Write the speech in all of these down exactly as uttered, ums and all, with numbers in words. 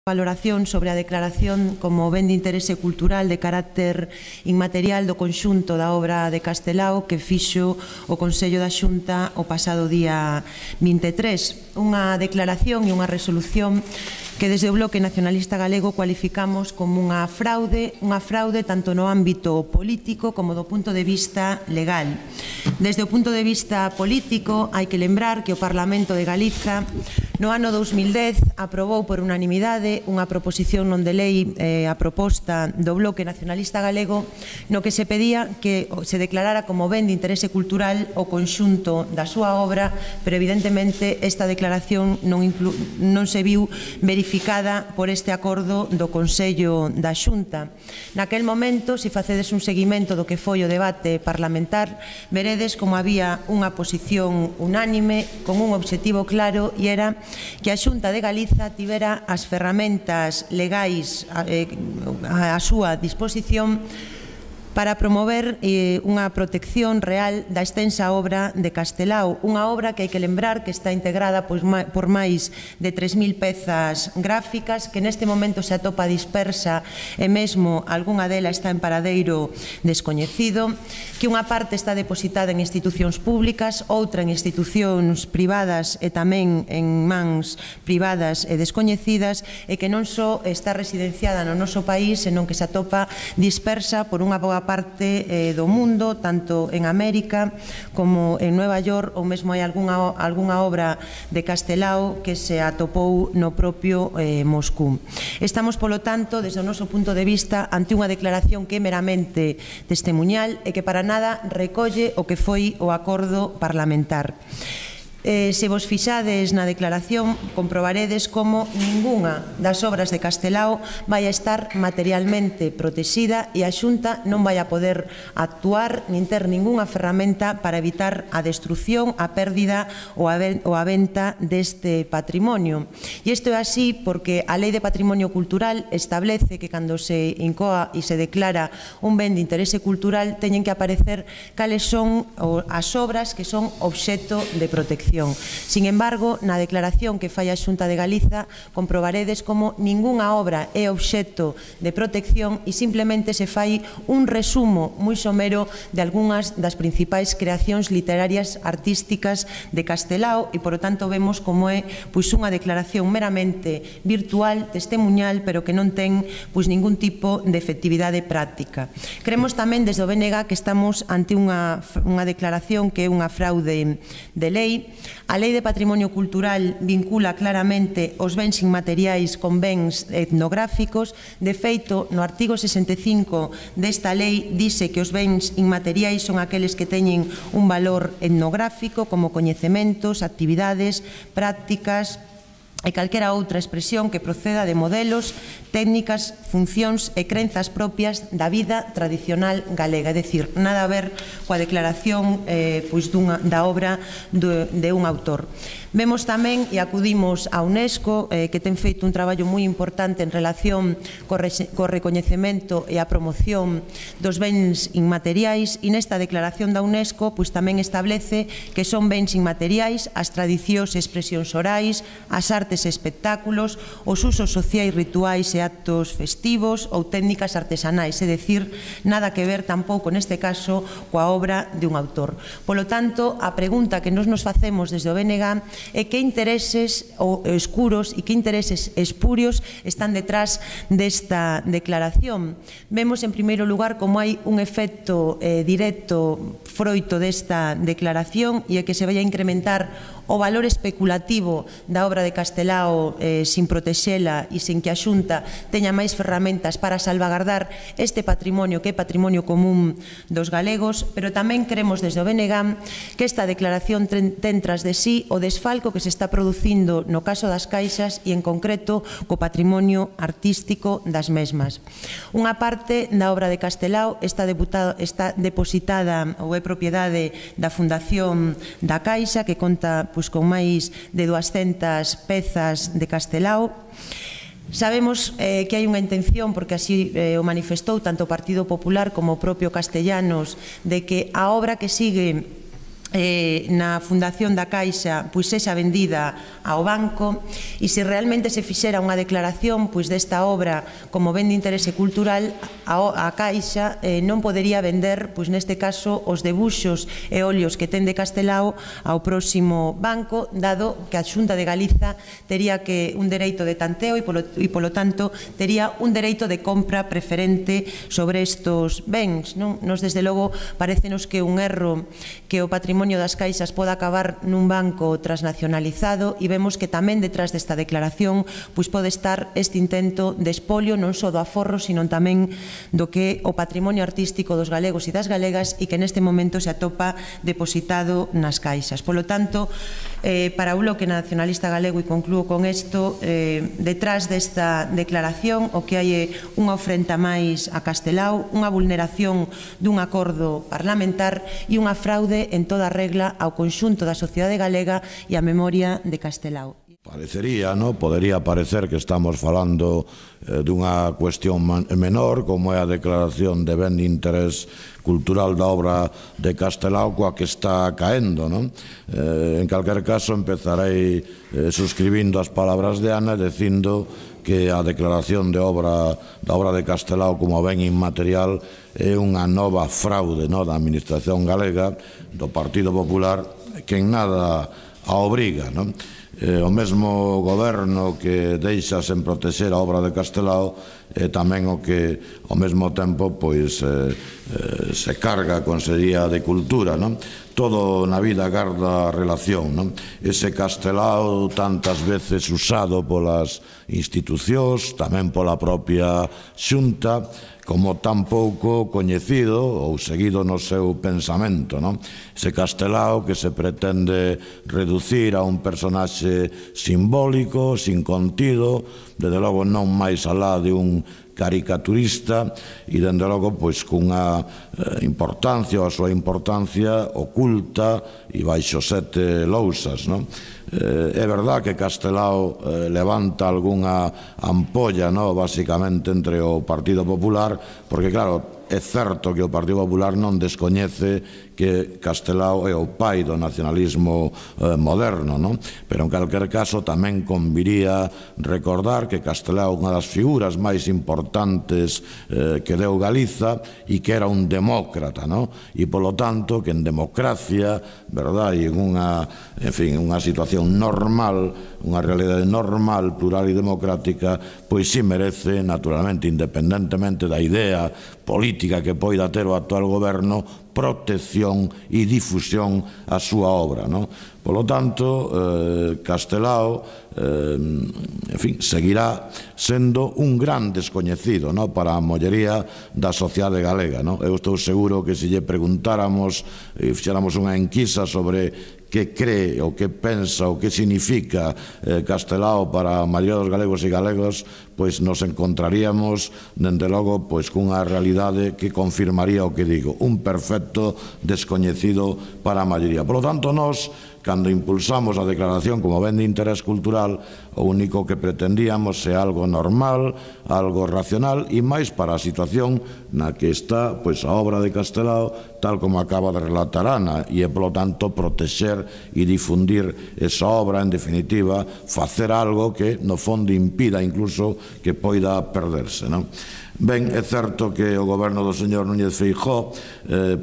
valoración sobre a declaración como ben de interese cultural de carácter inmaterial do conxunto da obra de Castelao que fixo o Consello da Xunta o pasado día vinte e tres. Unha declaración e unha resolución que desde o Bloque Nacionalista Galego cualificamos como unha fraude, unha fraude tanto no ámbito político como do punto de vista legal. Desde o punto de vista político, hai que lembrar que o Parlamento de Galiza no ano dous mil dez aprobou por unanimidade unha proposición non de lei eh, a proposta do Bloque Nacionalista Galego no que se pedía que se declarara como ben de interese cultural o conxunto da súa obra, pero evidentemente esta declaración non, inclu non se viu verificada por este acordo do Consello da Xunta. Naquel momento, se facedes un seguimento do que foi o debate parlamentar, veredes como había unha posición unánime con un obxectivo claro e era que a Xunta de Galiza tivera as ferramentas legais á súa disposición para promover eh, unha protección real da extensa obra de Castelao, unha obra que hai que lembrar que está integrada pois, ma, por máis de tres mil pezas gráficas, que neste momento se atopa dispersa e mesmo algunha dela está en paradeiro descoñecido, que unha parte está depositada en institucións públicas, outra en institucións privadas e tamén en mans privadas e descoñecidas, e que non só está residenciada no noso país, senón que se atopa dispersa por unha boa parte eh, do mundo, tanto en América como en Nueva York, ou mesmo hai algunha, algunha obra de Castelao que se atopou no propio eh, Moscú. Estamos, polo tanto, desde o noso punto de vista, ante unha declaración que é meramente testemuñal e que para nada recolle o que foi o acordo parlamentar. Eh, se vos fixades na declaración, comprobaredes como ningunha das obras de Castelao vai a estar materialmente protexida e a Xunta non vai a poder actuar nin ter ningunha ferramenta para evitar a destrucción, a pérdida ou a venta deste patrimonio. E isto é así porque a Lei de Patrimonio Cultural establece que cando se incoa e se declara un ben de interese cultural teñen que aparecer cales son as obras que son obxecto de protección. Sin embargo, na declaración que fai a Xunta de Galiza comprobaredes como ningunha obra é obxecto de protección e simplemente se fai un resumo moi somero de algunhas das principais creacións literarias artísticas de Castelao e, por lo tanto, vemos como é pois, unha declaración meramente virtual, testemuñal, pero que non ten pois, ningún tipo de efectividade práctica. Creemos tamén desde o B N G que estamos ante unha, unha declaración que é unha fraude de lei. A Lei de Patrimonio Cultural vincula claramente os bens inmateriais con bens etnográficos. De feito, no artigo sesenta e cinco desta lei dice que os bens inmateriais son aqueles que teñen un valor etnográfico como coñecementos, actividades, prácticas e calquera outra expresión que proceda de modelos, técnicas, funcións e crenzas propias da vida tradicional galega, é dicir, nada a ver coa declaración eh, pois dunha, da obra de, de un autor. Vemos tamén e acudimos a UNESCO eh, que ten feito un traballo moi importante en relación co, re, co recoñecemento e a promoción dos bens inmateriais e nesta declaración da UNESCO pois tamén establece que son bens inmateriais as tradicións e expresións orais, as artes e espectáculos, os usos sociais, rituais e actos festivos ou técnicas artesanais, é dicir, nada que ver tampouco neste caso coa obra de un autor. Polo tanto, a pregunta que nos nos facemos desde o B N G e que intereses escuros e que intereses espurios están detrás desta declaración. Vemos en primeiro lugar como hai un efecto eh, directo froito desta declaración e é que se vai a incrementar o valor especulativo da obra de Castelao eh, sin protexela e sin que a Xunta teña máis ferramentas para salvagardar este patrimonio que é patrimonio común dos galegos, pero tamén creemos desde o B N G que esta declaración ten tras de sí o desfalco que se está producindo no caso das caixas e en concreto co patrimonio artístico das mesmas. Unha parte da obra de Castelao está, está depositada ou é propiedade da Fundación da Caixa que conta pois, con máis de duascentas pezas de Castelao. Sabemos eh, que hai unha intención, porque así eh, o manifestou tanto o Partido Popular como o propio Castellanos, de que a obra que sigue eh, na fundación da Caixa pois sexa vendida ao banco, e se realmente se fixera unha declaración pois desta obra como ben de interese cultural, a, a Caixa eh, non podería vender, pois neste caso, os debuxos e óleos que ten de Castelao ao próximo banco, dado que a Xunta de Galiza tería que un dereito de tanteo e polo, e polo tanto tería un dereito de compra preferente sobre estos bens, non? Nos desde logo parecenos que un erro que o patrimonio das caixas poda acabar nun banco transnacionalizado, e vemos que tamén detrás desta declaración pois pode estar este intento de espolio non só do aforro, sino tamén do que o patrimonio artístico dos galegos e das galegas, e que neste momento se atopa depositado nas caixas. Polo tanto, eh, para o Bloque Nacionalista Galego, e conclúo con isto, eh, detrás desta declaración o que hai é unha ofrenda máis a Castelao, unha vulneración dun acordo parlamentar e unha fraude en toda regla ao conxunto da sociedade galega e á memoria de Castelao. Parecería, no? Podería parecer que estamos falando eh, dunha cuestión menor, como é a declaración de ben de interés cultural da obra de Castelao, coa que está caendo, non? Eh, en calquer caso, empezarei eh, suscribindo as palabras de Ana, dicindo que a declaración de obra da obra de Castelao como ben inmaterial é unha nova fraude, no, da Administración galega, do Partido Popular, que en nada a obriga, non? Eh, o mesmo goberno que deixa sen protexer a obra de Castelao é tamén o que ao mesmo tempo pois eh, eh, se carga a Consellería de Cultura, non? Todo na vida garda relación, non? Ese Castelao tantas veces usado polas institucións, tamén pola propia Xunta, como tan pouco coñecido ou seguido no seu pensamento, non? Ese Castelao que se pretende reducir a un personaxe simbólico, sin contido, desde logo non máis alá de un caricaturista, e dende logo pois cunha eh, importancia, ou a súa importancia oculta e baixo sete lousas, non? Eh, é verdad que Castelao eh, levanta algunha ampolla, no, basicamente entre o Partido Popular, porque claro, é certo que o Partido Popular non descoñece que Castelao é o pai do nacionalismo eh, moderno, non? Pero en calquer caso tamén conviría recordar que Castelao é unha das figuras máis importantes eh, que deu Galiza, e que era un demócrata, non? E polo tanto que en democracia, verdad, e en unha, en fin, unha situación normal, unha realidade normal, plural e democrática, pois si merece, naturalmente, independentemente da idea política que poida ter o actual goberno, protección e difusión a súa obra, non? Polo tanto, eh, Castelao eh, en fin, seguirá sendo un gran descoñecido, non? Para a mollería da sociedade galega, non? Eu estou seguro que se lle preguntáramos e fixéramos unha enquisa sobre que cree, o que pensa, o que significa eh, Castelao para a maioría dos galegos e galegos, pois nos encontraríamos, dende logo, pois cunha realidade que confirmaría o que digo, un perfecto descoñecido para a maioría. Por lo tanto, nós, cando impulsamos a declaración como ben de interés cultural, o único que pretendíamos é algo normal, algo racional, e máis para a situación na que está pois a obra de Castelao, tal como acaba de relatar Ana, e é, polo tanto, protexer e difundir esa obra, en definitiva, facer algo que, no fondo, impida incluso que poida perderse, non? Ben, é certo que o goberno do señor Núñez Feijóo, eh,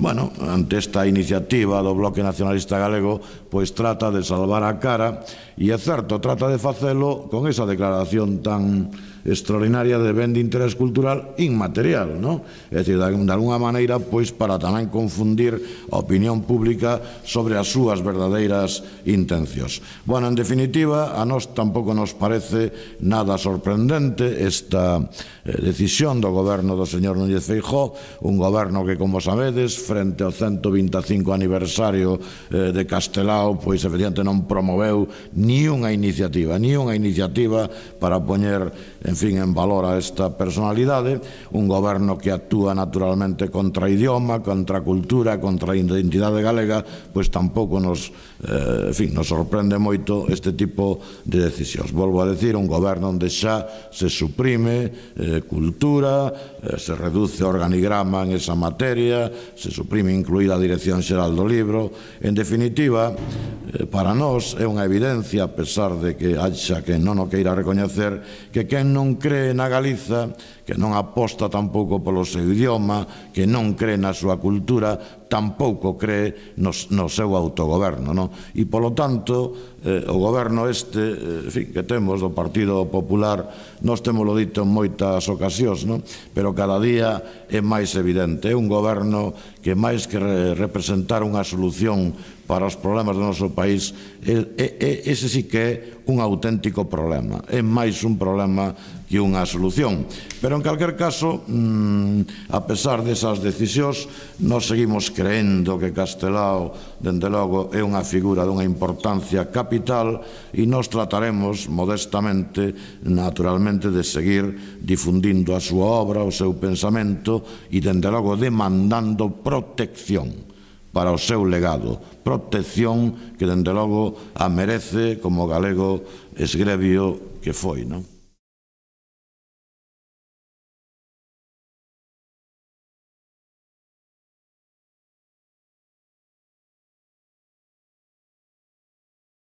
bueno, ante esta iniciativa do Bloque Nacionalista Galego, pois trata de salvar a cara, e é certo, trata de facelo con esa declaración tan extraordinaria de ben de interés cultural inmaterial, non? É dicir, de alguna maneira, pois, para tamén confundir a opinión pública sobre as súas verdadeiras intencións. Bueno, en definitiva, a nós tampouco nos parece nada sorprendente esta eh, decisión do goberno do señor Núñez Feijóo, un goberno que, como sabedes, frente ao ciento vinte e cinco aniversario eh, de Castelao, pois, efectivamente, non promoveu ni unha iniciativa, ni unha iniciativa para poñer, en fin, en valor a esta personalidade, un goberno que actúa naturalmente contra idioma, contra cultura, contra a identidade galega, pois tampouco nos, eh, en fin, nos sorprende moito este tipo de decisións. Volvo a decir, un goberno onde xa se suprime eh, cultura, se reduce o organigrama en esa materia, se suprime incluída a Dirección Xeral do Libro. En definitiva, para nós é unha evidencia, a pesar de que haxa que non o queira recoñecer, que quen non cree na Galiza, que non aposta tampouco polo seu idioma, que non cree na súa cultura, tampouco cree no, no seu autogoberno, non? E, polo tanto, eh, o goberno este, en fin, que temos do Partido Popular, nós temoslo dito en moitas ocasións, non? Pero cada día é máis evidente. É un goberno que, máis que re representar unha solución para os problemas do noso país, é, é, ese sí que é un auténtico problema. É máis un problema que unha solución. Pero, en calquer caso, mmm, a pesar desas decisións, nós seguimos creendo que Castelao, dende logo, é unha figura dunha importancia capital e nós trataremos modestamente, naturalmente, de seguir difundindo a súa obra, o seu pensamento e, dende logo, demandando protección para o seu legado, protección que, dende logo, a merece como galego esgrebio que foi, non?